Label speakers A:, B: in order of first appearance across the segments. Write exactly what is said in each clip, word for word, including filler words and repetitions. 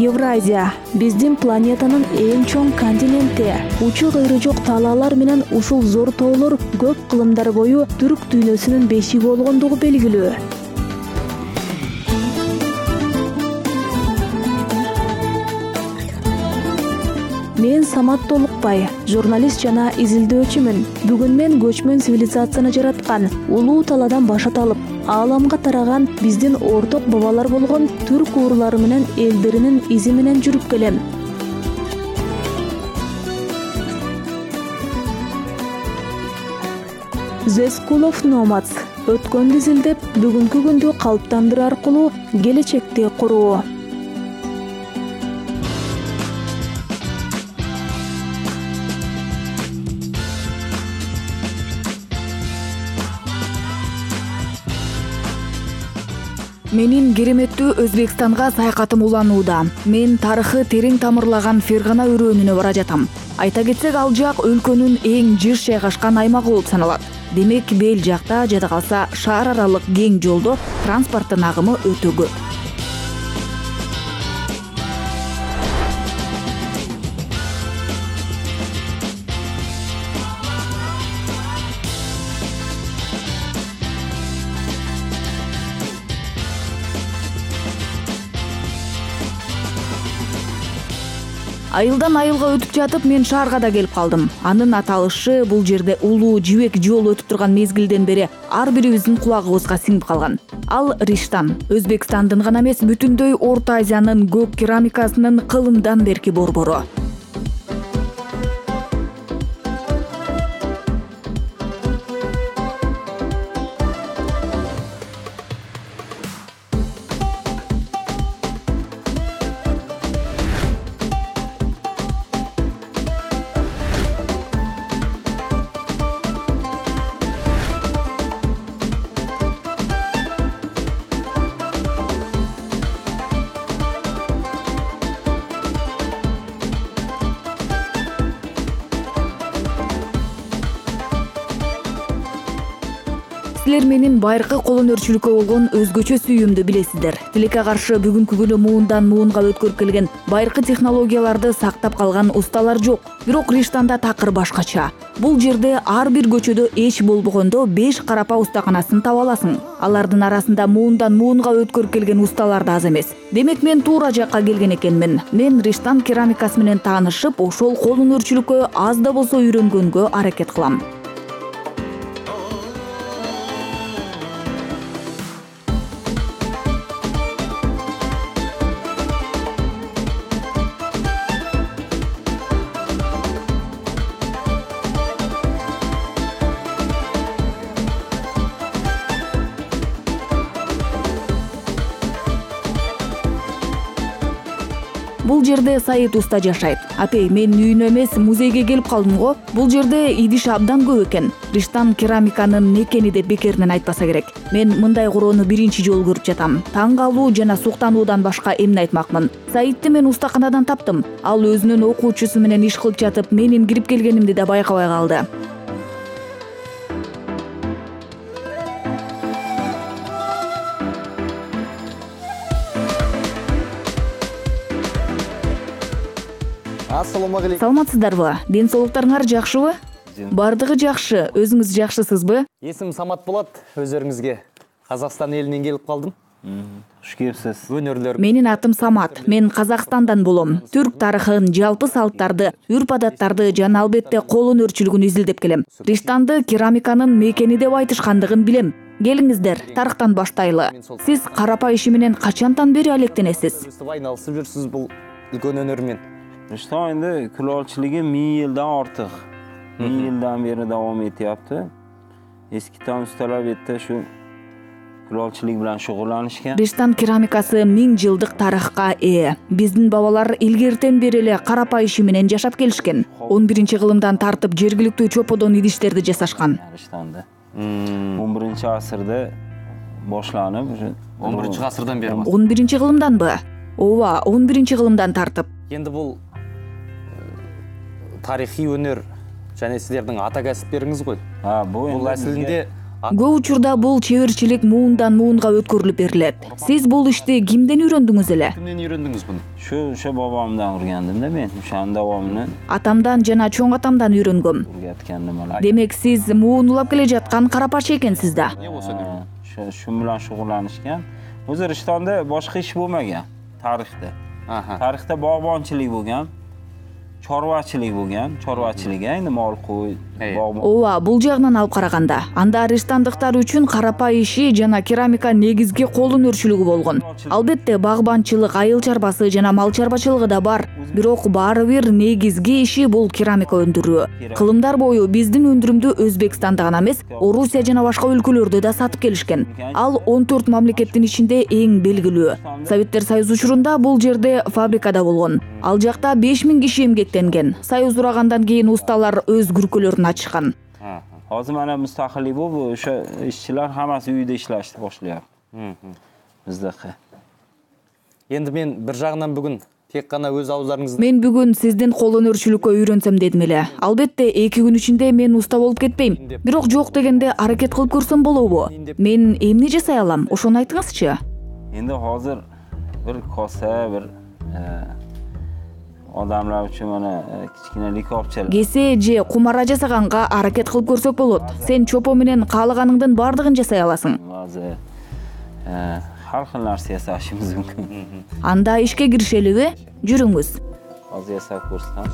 A: Евразия биздин планетанын эң чоң континенти. Учу кыйры жок талаалар менен ушул зор тоолор көп кылымдар бою түрк дүйнөсүнүн бешиги болгондугу белгилүү. Мен Самат Толукбай, журналист жана изилдөөчүмүн. Бүгүн мен көчмөн цивилизацияны жараткан, улуу талаадан башат алып, ааламга тараган биздин орток бабалар болгон түрк уурлары менен элдеринин изи менен жүрүп келем. The School of Nomads өткөндү изилдеп, бүгүнкү күндү калыптандыруу аркылуу келечекти куруу. Менин кереметтүү Өзбекстанга саякатым уланууда. Мен тарыхы терең тамырлаган Фергана өрөөнүнө бара жатам. Айта кетсек, ал жак өлкөнүн эң жыш жайгашкан аймагы болуп саналат. Демек, бел жакта жада калса шаар аралык кең жолдо транспорттун агымы өтө көп. Айылдан айылга өтүп жатып, мен шаарга да келип калдым. Анын аталышы бул жерде улуу жибек жол өтүп турган мезгилден бери ар бирибиздин кулагыбызга сиңип калган. Ал Риштан, Өзбекстандын гана эмес, бүтүндөй Орто Азиянын көк керамикасынын кылымдан берки борбору. Силер менин байыркы кол өнөрчүлүккө болгон өзгөчө сүйүүмдү билесиздер. Тилекке каршы бүгүнкү күнү муундан муунга өткөрүп келген байыркы технологияларды сактап калган усталар жок. Бирок Риштанда такыр башкача. Бул жерде ар бир көчөдө эч болбогондо беш карапа устаканасын таба аласың. Алардын арасында муундан муунга өткөрүп келген усталар да аз эмес. Демек, мен туура жакка келген экенмин. Мен Риштан керамикасы менен таанышып, ошол кол өнөрчүлүккө аз да болсо үйрөнгөнгө аракет кылам. Бул жерде Саид уста жашайт. Апей, мен үйүнө эмес, музейге келип калдым го. Бул жерде идиш абдан көп экен. Риштан керамиканын не экени деп бекеринен айтпаса керек. Мен мындай короону биринчи жолу көрүп жатам. Таң калуу жана суктануудан башка эмне айтмакмын. Саидти мен устаканадан таптым. Ал өзүнүн окуучусу менен иш кылып жатып, менин кирип келгенимди да байкабай калды.
B: Ассаламу алейкум.
A: Саламатсыздарбы? Ден соолуктарыңар жакшыбы? Бардыгы жакшы. Өзүңүз жакшысызбы?
B: Эсимим Самат болот. Өзүңүзгө Казакстан элинен келип калдым.
C: Хуш келипсиз.
B: Өнөрлөр.
A: Менин атым Самат. Мен Казакстандан болом. Түрк тарыхын, жалпы салттарды, үрп-адаттарды жана албетте кол өнөрчүлүгүн изилдеп келем. Риштанды керамиканын мекени деп айтышкандыгын билем. Келиңиздер, тарыхтан баштайлы. Сиз карапа иши менен качантан бери алектенесиз?
B: Айналышып жүрсүз бул үлкөн өнөр менен.
C: Риштан энди kulolchiligi ming yildan ortiq. ming yildan beri davom etyapti. Eskidan ustalar bu yerda shu kulolchilik bilan shug'ullanishgan.
A: Риштан керамикасы миң жылдык тарыхка ээ. Биздин бабалар илгертен бери эле карапа иши менен жашап келишкен. он биринчи кылымдан тартып жергиликтүү чоподон идиштерди жасашкан.
C: Риштанда он биринчи асырда башланып,
B: он биринчи асырдан бери.
A: он биринчи кылымданбы? Ооба, он биринчи кылымдан тартып.
B: Енді бұл тарихи өнер және сіздердің ата кәсіптеріңіз ғой.
C: Ha, bu
B: Бұл әсілінде
A: Көп учурда бул чеберчилик муундан муунга өткөрүлүп берилет. Сиз бул ишти кимден үйрөндүңүз эле?
B: Кимден үйрөндүңүз буну?
C: Şu şu babamdan öğrendim de men. Şan davamını
A: Атамдан жана чоң атамдан үйрөнгөм.
C: öğretkendim ala.
A: Демек сиз муун улап келе жаткан карапачы экенсиз да.
B: Не болсо үйрөн.
C: Şu şu bilan shug'ullanishgan. O'zbekistonda boshqa ish bo'lmagan tarixda.
B: Aha.
C: Tarixda bog'bonchilik bo'lgan, chorvachilik bo'lgan, chorvachilik endi mol qo'y,
B: Ey.
C: bog'
A: Ооба, бул жагынан алып караганда, анда риштандыктар үчүн карапа иши жана керамика негизги кол өнөрчүлүгү болгон. Албетте, багбанчылык, айыл чарбасы жана мал чарбачылыгы да бар, бирок баары бир негизги иши бул керамика өндүрүү. Кылымдар бою биздин өндүрүмдү Өзбекстанда гана эмес, Орусия жана башка өлкөлөрдө да сатып келишкен. Ал он төрт мамлекеттин ичинде эң белгилүү. Советтер Союзу учурунда бул жерде фабрикада болгон. Ал жакта беш миң киши эмгектенген. Союз урагандан кийин усталар өз күркөлөрүн ачышкан.
C: Hozir mana mustaqillik bu, o'sha ishchilar hammasi uyda ishlashni boshlayapti. Bizdagi.
B: Endi men bir жагынан бүгүн тек гана өз ауздарыңызды
A: Мен бүгүн сиздин кол өнөрчүлүккө үйрөнсөм дедим эле. Албетте, эки күн ичинде мен уста болуп кетпейм. Бирок жок дегенде аракет кылып көрсөм болобу? Мен эмне жасай алам? Ошону айтыңызчы.
C: Endi hozir bir kosa, bir odamlar uchun mana kichkina likopchalar.
A: Кесе же кумара жасаганга аракет кылып көрсөк болот. Сен чопо менен каалаганыңдын бардыгын жасай аласың.
C: Hozir har xil narsa yasashimiz mumkin.
A: Анда ишке киришелиби? Жүрүңүз.
C: Hozir yasab ko'rsam.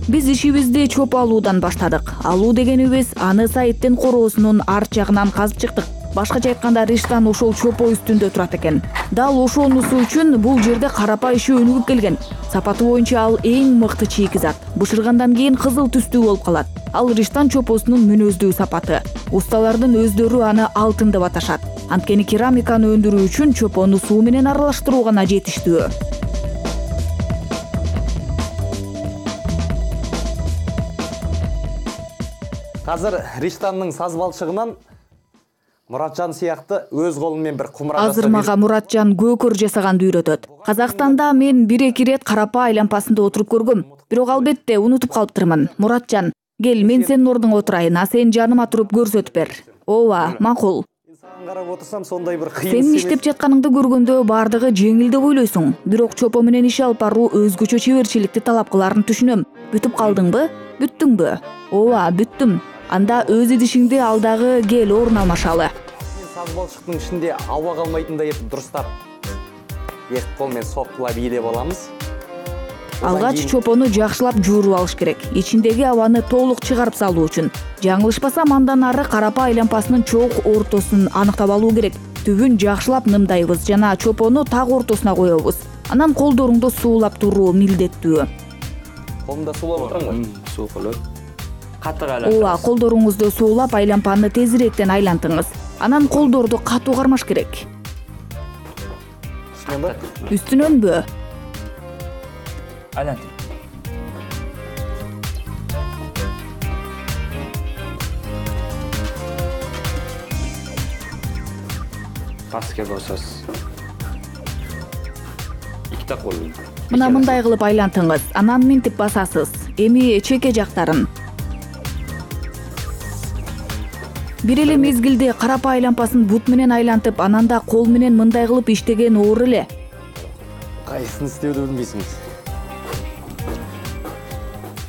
A: Биз ишибизди чоп алуудан баштадык. Алуу дегенибиз аны сайттын короосунун арт жагынан казып чыктык. Башкача айтканда, риштан ошол чопо үстүндө турат экен. Дал ошонусу үчүн бул жерде карапа иши өнүгүп келген. Сапаты боюнча ал эң мыкты чийки зат. Бышыргандан кийин кызыл түстүү болуп калат. Ал риштан чопосунун мүнөздүү сапаты. Усталардын өздөрү аны алтын деп аташат. Анткени керамиканы өндүрүү үчүн чопону суу менен аралаштыруу гана жетиштүү.
B: Азыр Риштандын саз балчыгынан Муратжан сыяктуу өз колу менен бир кумара
A: Азыр мага Муратжан көкөр жасаганды үйрөтөт. Казакстанда мен бир-эки ирет карапа айланпасында отуруп көргөм. Бирок албетте унутуп калыптырмын. Муратжан, кел, мен сенин ордуңа отурайын, а сен жаныма туруп көрсөтүп бер. Ооба, макул.
B: Сага карап отурсам сондай бир кыйын.
A: Сен иштеп жатканыңды көргөндө бардыгы жеңил деп ойлойсуң. Бирок чопо менен иш алып баруу өзгөчө чеберчиликти талап кыларын түшүнөм. Бүтүп калдыңбы? Бүттүңбү? Ооба, бүттүм. Анда өз идишиңди алдагы кел орун алмашалы.
B: Саз балчыктын ичинде аба калмайтындай этип дурустап эки кол менен соккулап ийдеп алабыз.
A: Алгач чопону жакшылап жууруп алыш керек. Ичиндеги абаны толук чыгарып салуу үчүн. Жаңылышпасам, андан ары карапа айланпасынын чоок ортосун аныктап алуу керек. Түбүн жакшылап нымдайбыз жана чопону так ортосуна коебуз. Анан колдоруңду суулап туруу милдеттүү.
B: Колумда суулап отурам го.
C: Суу кылып. Катык
A: Ооба, колдоруңузду суулап айланпаны тезирээктен айлантыңыз. Анан колдорду катуу кармаш керек.
B: Үстүнөнбү?
A: Үстүнөнбү?
D: Айлант. Пастке басасыз. Икте кол.
A: Мына мындай кылып айлантыңыз. Анан минтип басасыз. Эми чеке жактарын. Бир эле мезгилде карапа айланпасын бут менен айлантып, анан да кол менен мындай кылып иштеген оор эле.
B: Кайсын истөөдү билбейсиңиз.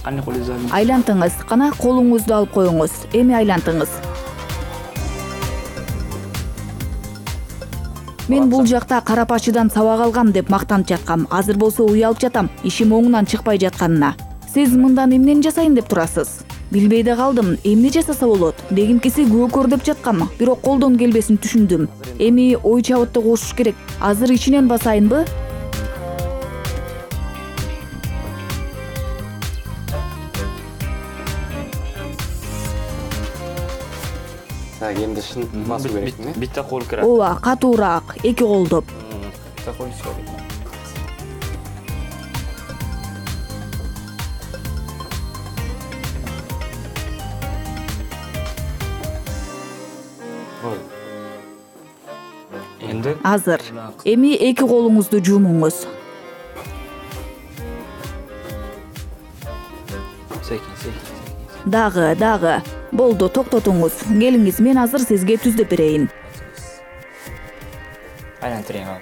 D: Кандай кол изалын?
A: Айлантыңыз. Кана колуңузду алып коюңуз. Эми айлантыңыз. Мен бул жакта карапачыдан сабак алгам деп мактанып жаткам. Азыр болсо уялып жатам, ишим оңунан чыкпай жатканына. Сиз мындан эмнени жасайын деп турасыз? Билбей да калдым, эмне жасаса болот? Дегимкиси көкөр деп жаткам, бирок колдон келбесин түшүндүм. Эми ой чабытты кошуш керек. Азыр ичинен басайынбы?
B: Так, эмди шын басуу керек эмне?
D: Битте кол кирет.
A: Ооба, катуураак, эки колдоп.
D: Битте кол керек. Эndi
A: Азыр. Эми эки колуңузду жумуңуз.
D: Секин, секин, секин.
A: Дагы, дагы. Болду, токтотуңуз. Келиңиз, мен азыр сизге түздөп берейин.
D: Айлантырайын ал.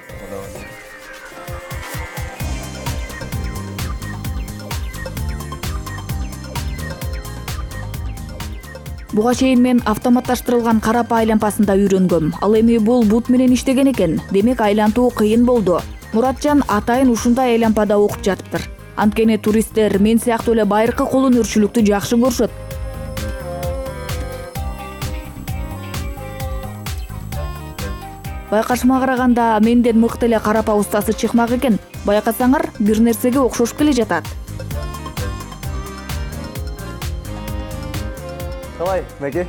A: Буга чейин мен автоматташтырылган карапа айланпасында үйрөнгөм. Ал эми бул бут менен иштеген экен. Демек айлантуу кыйын болду. Муратжан атайын ушундай айланпада окуп жатыптыр. Анткени туристтер мен сыяктуу эле байыркы кол өнөрчүлүктү жакшы көрүшөт. Байкашыма караганда менден мыкты эле карапа устасы чыкмак экен. Байкасаңар, бир нерсеге окшошуп келе жатат.
B: Калай, Мәке?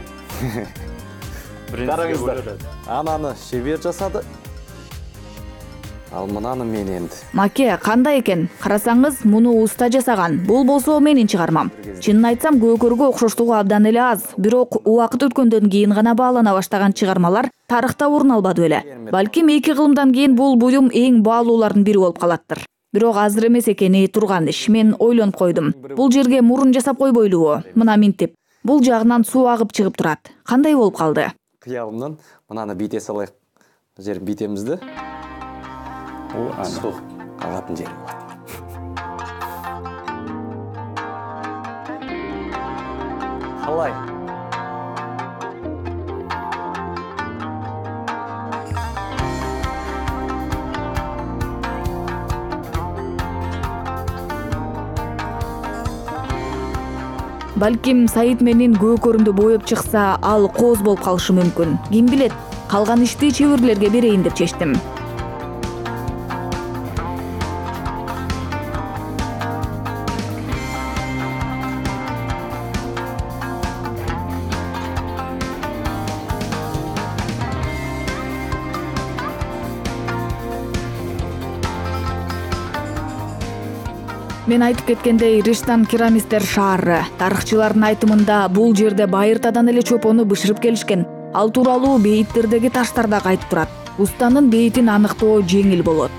D: Караңыздар.
B: Ананы шебер жасады. Ал мынаны мен энди.
A: Маке, кандай экен? Карасаңыз, муну уста жасаган. Бул болсо менин чыгармам. Чынын айтсам, көкөргө окшоштугу абдан эле аз. Бирок убакыт өткөндөн кийин гана баалана баштаган чыгармалар тарыхта орун албады беле. Балким эки кылымдан кийин бул буюм эң баалуулардын бири болуп калаттыр. Бирок азыр эмес экени турган иш. Мен ойлонуп койдум. Бул жерге мурун жасап койбойлубу? Мына минтип. Бул жагынан суу агып чыгып турат. Кандай болуп калды?
B: Кыялымдан мынаны бите салайык. Бул жерин битебиз да. О, суу агатын жери болот. Калай?
A: Балким Саид менин көкөрүмдү боеп чыкса, ал кооз болуп калышы мүмкүн. Ким билет? Калган ишти чеберлерге берейин деп чечтим. Мен айтып кеткендей, Риштан керамисттер шаары. Тарыхчылардын айтымында бул жерде байыртадан эле чопону бышырып келишкен. Ал тууралуу бейиттердеги таштар да айтып турат. Устанын бейитин аныктоо жеңил болот.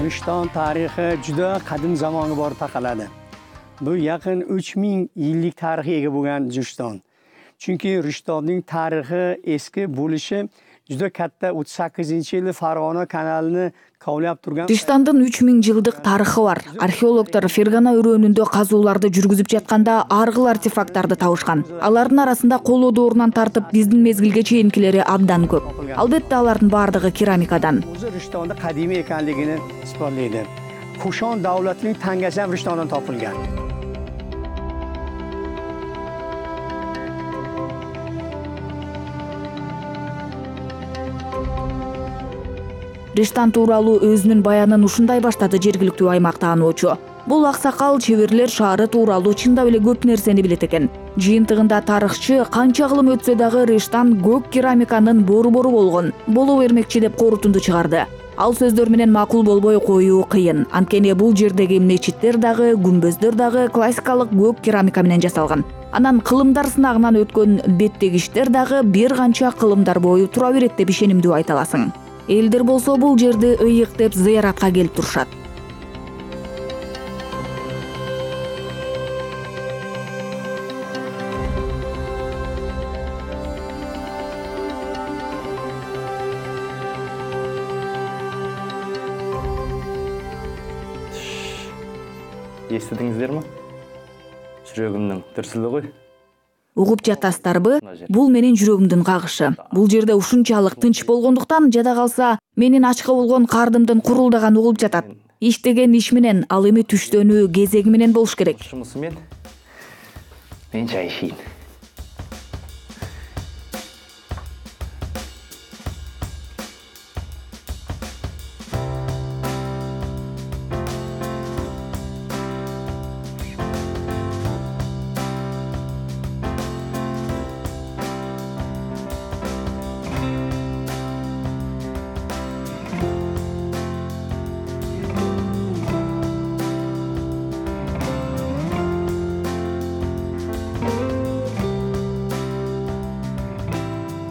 E: Риштан тарихи juda qadim zamonga borib taqaladi. Bu yaqin uch ming yillik tarixga ega bo'lgan Rishton. Chunki Rishtonning tarixi eski bo'lishi juda katta o'ttiz sakkizinchi yili Farg'ona kanalini kovlab turgan.
A: Rishtondун uch ming жылдык тарыхы бар. Археологдор Фергана өрөөнүндө казууларды жүргүзүп жатканда аргыл артефакттарды табышкан. Алардын арасында коло доорунан тартып биздин мезгилге чейинкилери абдан көп. Албетте алардын бардыгы керамикадан.
E: O'zi Rishtonda qadimiy ekanligini isbotlaydi. Kushon davlatining tangasi ham Rishtondan topilgan.
A: Риштан тууралуу өзүнүн баянын ушундай баштады жергиликтүү аймактаануучу. Бул аксакал чеберлер шаары тууралуу чындап эле көп нерсени билет экен. Жыйынтыгында тарыхчы канча кылым өтсө дагы Риштан көк керамиканын борбору болгон, боло бермекчи деп корутунду чыгарды. Ал сөздөр менен макул болбой коюу кыйын. Анткени бул жердеги мечиттер дагы, күмбөздөр дагы классикалык көк керамика менен жасалган. Анан кылымдар сынагынан өткөн беттегиштер дагы бир канча кылымдар бою тура берет деп ишенимдүү айта аласың. Элдер болсо бул жерди ыйык деп зыяратка келип турушат.
B: Естидиңиздерби? Жүрөгүмдүн дүрсүлүгү.
A: Угуп жатасыздарбы? Бул менин жүрөгүмдүн кагышы. Бул жерде ушунчалык тынч болгондуктан жада калса, менин ачка болгон кардымдын курулдаганы угулуп жатат. Иштеген иш менен, ал эми түштөнүү кезеги менен болуш керек.
B: Шумусу мен мен чай ишейин.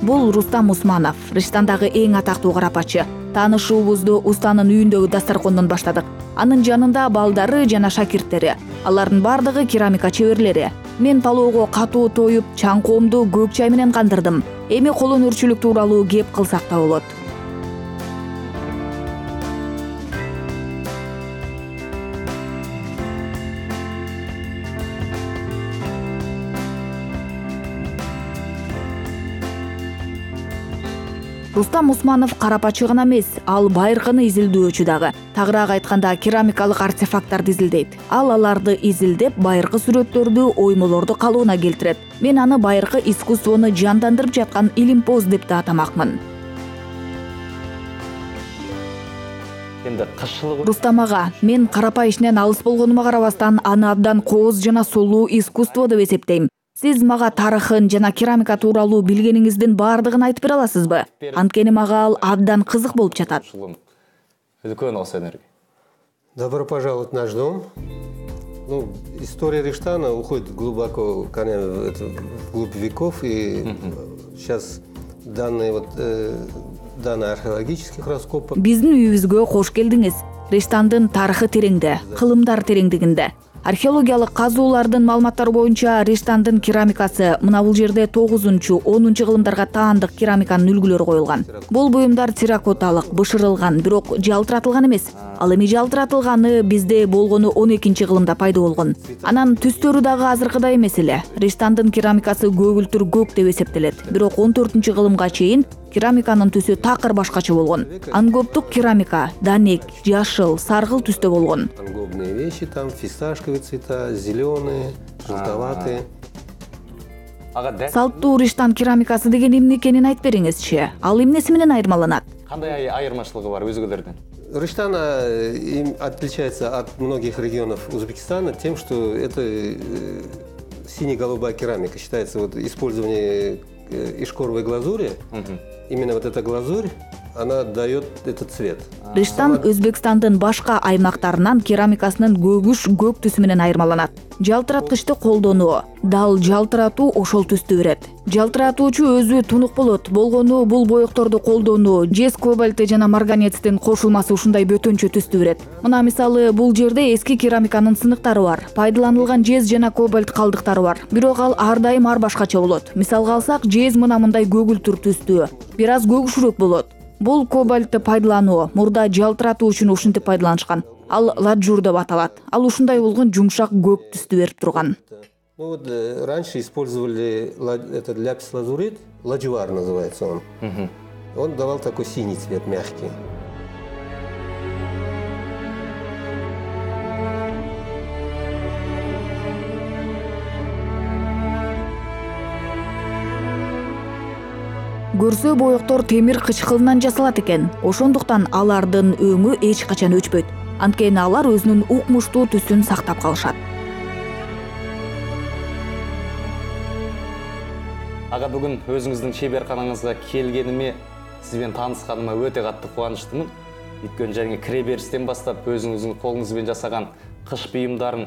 A: Бул Рустам Усманов, Рыштандагы эң атактуу карапачы. Таанышуубузду устанын үйүндөгү дастаркондон баштадык. Анын жанында балдары жана шакирттери. Алардын бардыгы керамика чеберлери. Мен палоого катуу тоюп, чаңкоомду көк чай менен кандырдым. Эми кол өнөрчүлүк тууралуу кеп кылсак да болот. Рустам Усманов карапачы гана эмес, ал байыркыны изилдөөчү дагы. Тагыраак айтканда, керамикалык артефакттарды изилдейт. Ал аларды изилдеп, байыркы сүрөттөрдү, оймолорду калыбына келтирет. Мен аны байыркы искусствону жандандырып жаткан илимпоз деп да атамакмын.
B: Эми кышылык
A: Рустам ага, мен карапай ишинен алыс болгонума карабастан, аны абдан кооз жана сулуу искусство деп эсептейм. Сиз мага тарыхын жана керамика тууралуу билгениңиздин баардыгын айтып бере аласызбы? Анткени мага ал абдан кызык болуп жатат.
B: Үлкөн осы энерги.
F: Добро пожаловать в наш дом. Ну, история Риштана уходит глубоко, конечно, вглубь веков, и сейчас данные вот э, данные археологических раскопок.
A: Биздин үйүбүзгө кош келдиңиз. Риштандын тарыхы тереңде, кылымдар тереңдигинде. Археологиялык казуулардын маалыматтары боюнча Риштандын керамикасы мына бул жерде тогузунчу онунчу кылымдарга таандык керамиканын үлгүлөрү коюлган. Бул буюмдар терракоталык, бышырылган, бирок жалтыратылган эмес. Ал эми жалтыратылганы бизде болгону он экинчи кылымда пайда болгон. Анан түстөрү дагы азыркыдай эмес эле. Риштандын керамикасы көгүлтүр көк деп эсептелет. Бирок он төртүнчү кылымга чейин керамиканын түсү такыр башкача болгон. Ангоптук керамика данек, жашыл, саргыл түстө болгон.
F: Ангобные вещи там, фисташковые цвета, зеленые, желтоватые.
A: Салттуу Риштан керамикасы деген эмне экенин айтып бериңизчи. Ал эмнеси менен айырмаланат?
B: Кандай айырмачылыгы бар өзгөлөрдөн?
F: Риштан им отличается от многих регионов Узбекистана тем, что это э, сине-голубая керамика. Считается вот использование ишкоровой глазури. Угу. Именно вот эта глазурь, она дает этот цвет.
A: Риштан Өзбекстандын башка аймактарынан керамикасынын көгүш көк түсү менен айырмаланат. Жалтыраткычты колдонуу, дал жалтыратуу ошол түстү берет. Жалтыратуучу өзү тунук болот. Болгону бул боекторду колдонуу, жез кобальты жана марганецтин кошулмасы ушундай бөтөнчө түстү берет. Мына мисалы бул жерде эски керамиканын сыныктары бар. Пайдаланылган жез жана кобальт калдыктары бар. Бирок ал ар дайым ар башкача болот. Мисалга алсак, жез мына мындай көгүлтүр түстүү, бир аз көгүшүрөөк болот. Бул кобальтты пайдалануу мурда жалтыратуу үчүн ушинтип пайдаланышкан. Ал ладжур деп аталат. Ал ушундай болгон жумшак көк түстү берип турган.
F: Ну вот раньше использовали этот ляпис-лазурит, ладжуар называется он. Угу. Он давал такой синий цвет, мягкий.
A: Көрсө боектор темир кычкылынан жасалат экен. Ошондуктан алардын өңү эч качан өчпөйт. Анткени алар өзүнүн укмуштуу түсүн сактап калышат.
B: Ага, бүгүн өзүңүздүн чеберканаңызга келгениме, сиз менен таанышканыма өтө катты кубанычтымын. Өйткөнү жаңы кире беристен баштап өзүңүздүн колуңуз менен жасаган кыш буюмдарын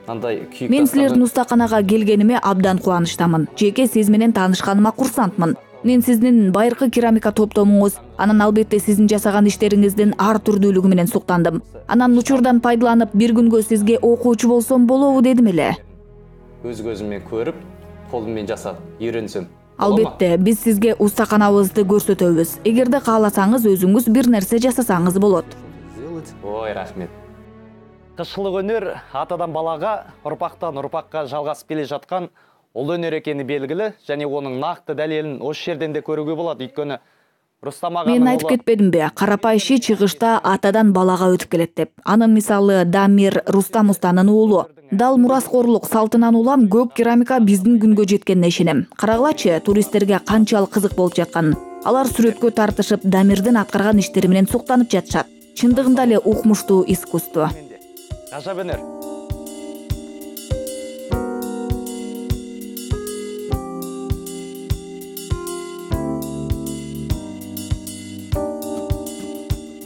B: андай күйүк.
A: Мен силердин устаканага келгениме абдан кубанычтамын. Жеке сиз менен таанышканыма курсантмын. Мен сиздин байыркы керамика топтомуңуз, анан албетте сиздин жасаган иштериңиздин ар түрдүүлүгү менен суктандым. Анан учурдан пайдаланып, бир күнгө сизге окуучу болсом болобу дедим эле.
B: Өз көзүммен көрүп, колум менен жасап, үйрөнсөм.
A: Албетте, биз сизге устаканабызды көрсөтөбүз. Эгерде кааласаңыз, өзүңүз бир нерсе жасасаңыз болот.
B: Ой, рахмет. Кышылык өнөр атадан балага, урпактан урпакка жалгасып келе жаткан ол өнөр экени белгилүү, және оның нақты дәлелин ошол жерден де көрүүгө болот. Өйткөнү Рустам аганын
A: Мен айтып кетпедимби, карапай иши чыгышта атадан балага өтүп келет деп. Анын мисалы Дамир Рустам устанын уулу. Дал мураскорлук салтынан улам көк керамика биздин күнгө жеткенине ишенем. Карагылачы, туристтерге канчалык кызык болуп жатканын. Алар сүрөткө тартышып, Дамирдин аткарган иштери менен суктанып жатышат. Чындыгында эле укмуштуу искусство.
B: Гажап өнөр.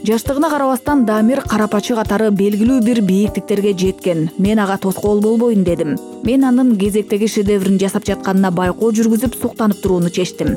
A: Жаштыгына карабастан Дамир карапачы катары белгилүү бир бийиктиктерге жеткен. Мен ага тоскоол болбойн дедим. Мен анын кезектеги шедеврин жасап жатканына байкоо жүргүзүп суктанып турууну чечтим.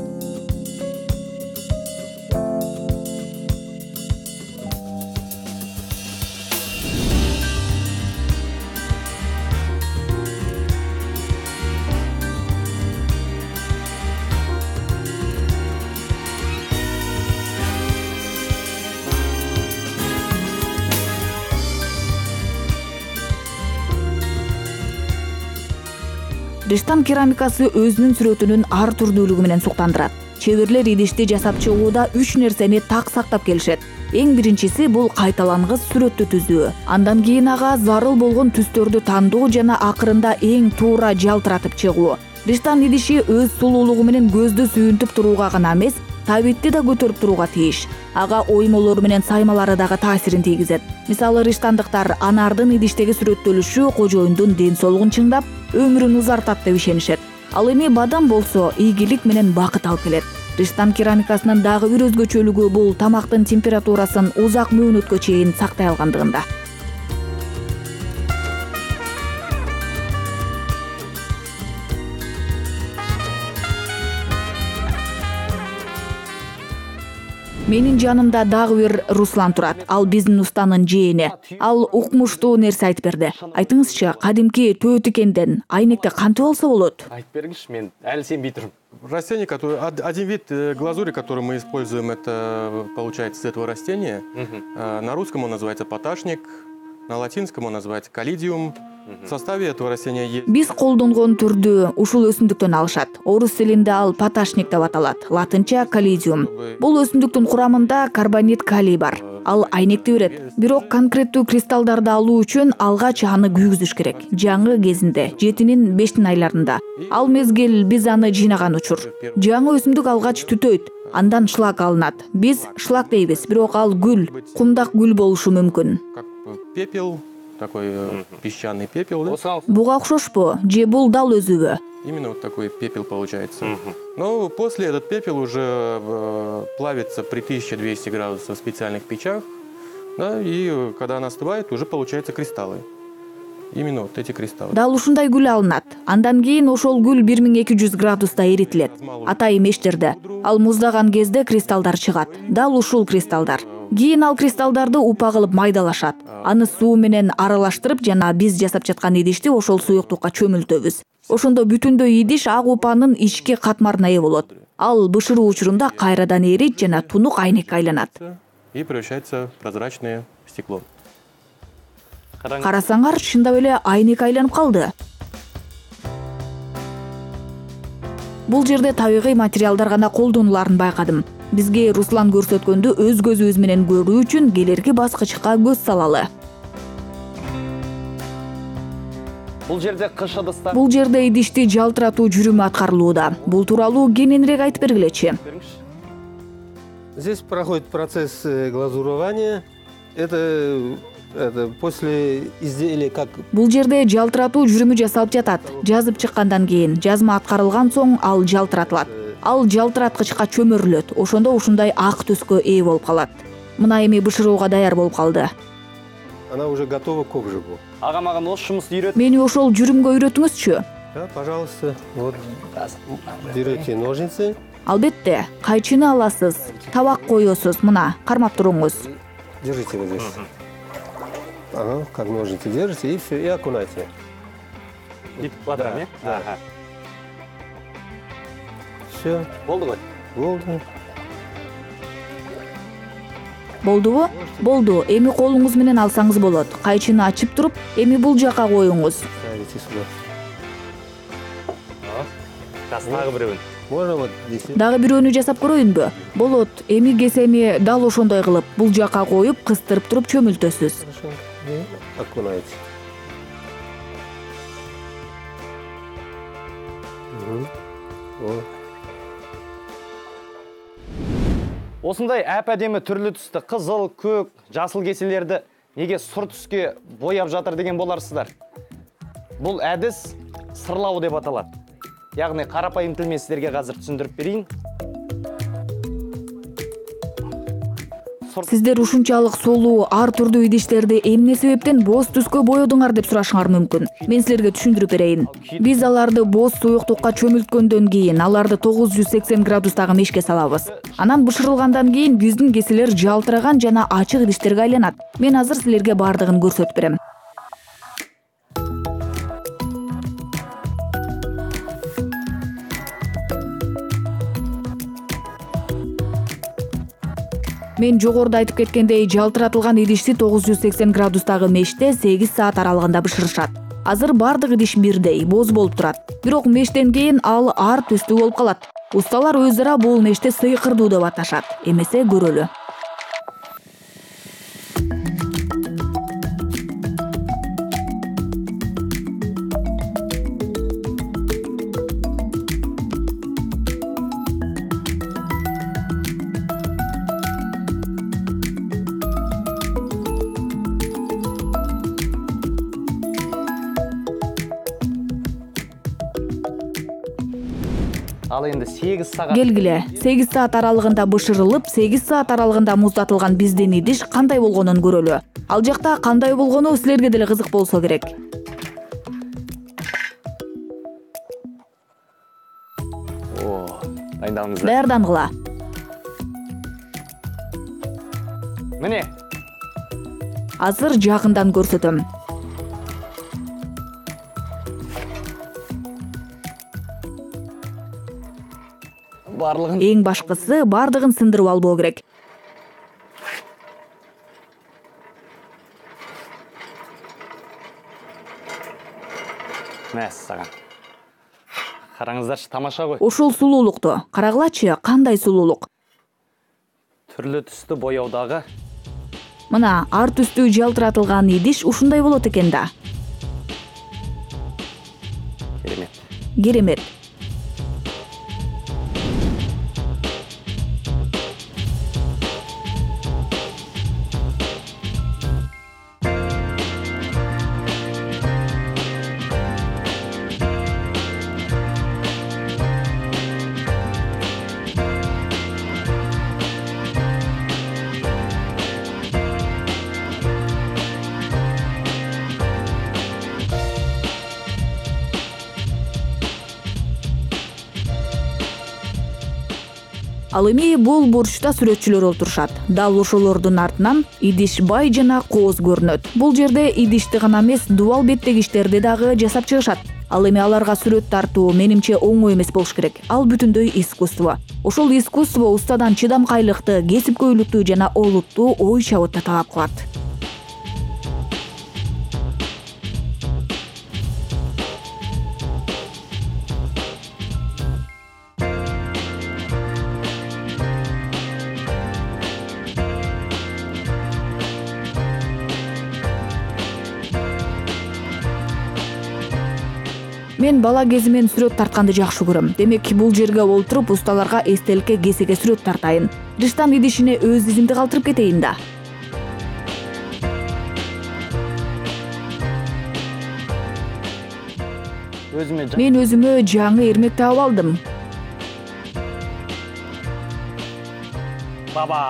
A: Риштан керамикасы өзүнүн сүрөтүнүн ар түрдүүлүгү менен суктандырат. Чеберлер идишти жасап чыгууда үч нерсени так сактап келишет. Эң биринчиси бул кайталангыс сүрөттү түзүү. Андан кийин ага зарыл болгон түстөрдү тандоо жана акырында эң туура жалтыратып чыгуу. Риштан идиши өз сулуулугу менен көздү сүйүнтүп турууга гана эмес, табитти да көтөрүп турууга тийиш. Ага оймолору менен саймалары дагы таасирин тийгизет. Мисалы, риштандыктар анардын идиштеги сүрөттөлүшү кожоюндун ден соолугун чыңдап, өмүрүн узартат деп ишенишет. Ал эми бадам болсо ийгилик менен бакыт алып келет. Риштан керамикасынын дагы бир өзгөчөлүгү бул тамактын температурасын узак мөөнөткө чейин сактай алгандыгында. Менин жанымда дагы бир Руслан турат. Ал биздин устанын жээни. Ал укмуштуу нерсе айтып берди. Айтыңызчы, кадимки төөтүкенден айнекти кантип алса болот?
B: Айтып бергилчи, мен әлі сенбей тұрмын.
G: Растение, который, один вид глазури, который мы используем, это получается из этого растения. На русском он называется поташник, на латинском он называется калидиум. В составе этого растения есть...
A: Биз колдонгон түрдү ушул өсүмдүктөн алышат. Орус тилинде ал поташник деп аталат, латынча калидиум. Бул өсүмдүктүн курамында карбонит калий бар. Ал айнекти берет. Бирок конкреттүү кристаллдарды алуу үчүн алгач аны күйгүзүш керек. Жаңы кезинде, жетинин бештин айларында. Ал мезгил биз аны жыйнаган учур. Жаңы өсүмдүк алгач түтөйт. Андан шлак алынат. Биз шлак дейбиз, бирок ал гүл, кумдак гүл болушу мүмкүн.
G: Как пепел, такой э, песчаный пепел, да?
A: Буга окшошпу? Же бул дал өзүбү?
G: Именно вот такой пепел получается. Но после этот пепел уже э, плавится при тысяче двести градусах в специальных печах. Да, и когда она остывает, уже получаются кристаллы. Именно вот эти кристаллы.
A: Дал ушундай гүл алынат. Андан кийин ошол гүл бир миң эки жүз градуста эритилет. Атайын мештерде. Ал муздаган кезде кристаллдар чыгат. Дал ушул кристаллдар. Кийин ал кристаллдарды упа кылып майдалашат. Аны суу менен аралаштырып жана биз жасап жаткан идишти ошол суюктукка чөмүлтөбүз. Ошондо бүтүндөй идиш ак упанын ички катмарына ээ болот. Ал бышыруу учурунда кайрадан эрийт жана тунук айнекке айланат.
G: И превращается в прозрачное стекло.
A: Карасаңар, чындап эле айнек айланып калды. Бул жерде табигый материалдар гана колдонуларын байкадым. Бизге Руслан көрсөткөндү өз көзүбүз менен көрүү үчүн келерки баскычка көз салалы.
B: Бул жерде кыш ыдыстар.
A: Бул жерде идишти жалтыратуу жүрүмү аткарылууда. Бул тууралуу кененирээк айтып бергилечи.
F: Здесь проходит процесс глазурования. Это, это после изделия как...
A: Бул жерде жалтыратуу жүрүмү жасалып жатат. Жазып чыккандан кийин, жазма аткарылган соң ал жалтыратылат. Ал жалтыраткычка чөмүрүлөт. Ошондо ушундай ак түскө ээ болуп калат. Мына эми бышырууга даяр болуп калды.
F: Она уже готова к обжигу.
B: Ага, маган ош жумусту үйрөт.
A: Мени ошол жүрүмгө үйрөтүңүзчү.
F: Да, пожалуйста. Вот берете ножницы.
A: Албетте, кайчыны аласыз, табак коесуз, мына, кармап туруңуз.
F: Держите вот здесь. Ага, как ножницы держите и все, и окунайте.
B: Бүйтүп батырам, э?
F: Да. Все.
B: Болду ғой.
F: Болды.
A: Болдубу? Болду. Эми колуңуз менен алсаңыз болот. Кайчыны ачып туруп, эми бул жака коюңуз.
F: Ставите сюда.
B: Дагы бирөөнү.
F: Можно вот здесь.
A: Дагы бирөөнү жасап көрөйүнбү? Болот. Эми кесени дал ошондой кылып, бул жака коюп, кыстырып туруп чөмүлтөсүз.
F: И окунаете. Угу. Вот.
B: Осындай әп-әдемі түрлі түсті қызыл, көк, жасыл кеселерді неге сұр түске бояп жатыр деген боларсыздар. Бұл әдіс сырлау деп аталады. Яғни қарапайым тілмен сіздерге қазір түсіндіріп берейін.
A: Сиздер ушунчалык сулуу, ар түрдүү идиштерди эмне себептен боз түскө боёдуңар деп сурашыңар мүмкүн. Мен силерге түшүндүрүп берейин. Биз аларды боз суюктукка чөмүлткөндөн кийин аларды тогуз жүз сексен градустагы мешке салабыз. Анан бышырылгандан кийин биздин кеселер жалтыраган жана ачык идиштерге айланат. Мен азыр силерге бардыгын көрсөтүп берем. Мен жогоруда айтып кеткендей, жалтыратылган идишти тогуз жүз сексен градустагы меште сегиз саат аралыгында бышырышат. Азыр бардык идиш бирдей, боз болуп турат. Бирок мештен кийин ал ар түстүү болуп калат. Усталар өз ара бул мешти сыйкырдуу деп аташат. Эмесе көрөлү.
B: Ал енді сегиз саат.
A: Келгиле, сегиз саат аралыгында бышырылып, сегиз саат аралыгында муздатылган биздин идиш кандай болгонун көрөлү. Ал жакта кандай болгону силерге деле кызык болсо керек.
B: О, дайындалыңыздар.
A: Даярдангыла.
B: Міне.
A: Азыр жакындан көрсөтөм.
B: Барлығын.
A: Эң башкысы бардыгын сындырып албоо керек.
B: Мәс саған. Караңыздарчы, тамаша ғой.
A: Ушул сулуулукту карагылачы, кандай сулуулук.
B: Түрлі түсті бояудағы.
A: Мына ар түстүү жалтыратылган идиш ушундай болот экен да.
B: Керемет.
A: Керемет. Ал эми бул бурчта сүрөтчүлөр отурушат. Дал ошолордун артынан идиш бай жана кооз көрүнөт. Бул жерде идишти гана эмес, дубал беттеги иштерди дагы жасап чыгышат. Ал эми аларга сүрөт тартуу менимче оңой эмес болуш керек. Ал бүтүндөй искусство. Ошол искусство устадан чыдамкайлыкты, кесипкөйлүктү жана олуттуу ой чабытты талап кылат. Мен бала кезимен сүрөт тартканды жакшы көрөм. Демек, бул жерге олтуруп усталарга эстеликке кесеге сүрөт тартайын. Риштан идишине өз изимди калтырып кетейин да.
B: Өзүмө
A: Мен өзүмө жаңы эрмек таап алдым.
B: Баба!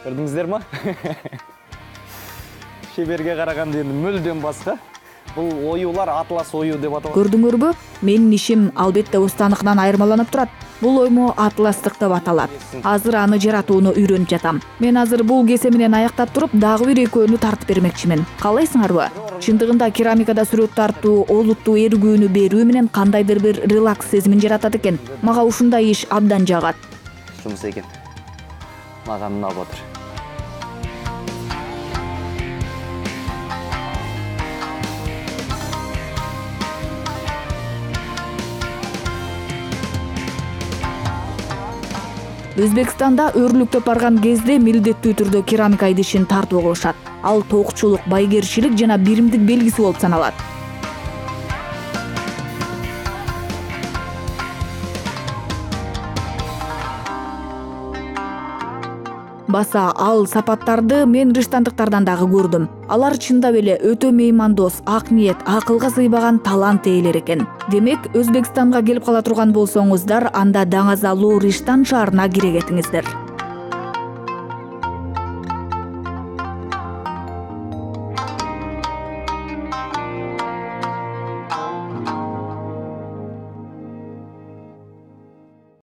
B: Көрдүңүздөр ма? Шеберге караганда эndi мүлдөн башка. Бул оюулар атлас ою деп аталат.
A: Көрдүңөрбү? Менин ишим албетте устаныкынан айырмаланып турат. Бул оймо атластык деп аталат. Азыр аны жаратууну үйрөнүп жатам. Мен азыр бул кесе менен аяктап туруп, дагы бир экөөнү тартып бермекчимин. Каалайсыңарбы? Чындыгында керамикада сүрөт тартуу, олуттуу эргүүнү берүү менен кандайдыр бир релакс сезимин жаратат экен. Мага ушундай иш абдан жагат.
B: Жумус экен. Мага унап отур.
A: Өзбекстанда өрлүктөп барган кезде милдеттүү түрдө керамика идишин тартуу кылышат. Ал токчулук, байгерчилик жана биримдик белгиси болуп саналат. Баса ал сапаттарды мен риштандыктардан дагы көрдүм. Алар чындап эле өтө меймандос, ак ниет, акылга сыйбаган талант ээлер экен. Демек, Өзбекстанга келип кала турган болсоңуздар, анда Даңазалуу Риштан шаарына кире кетиңиздер.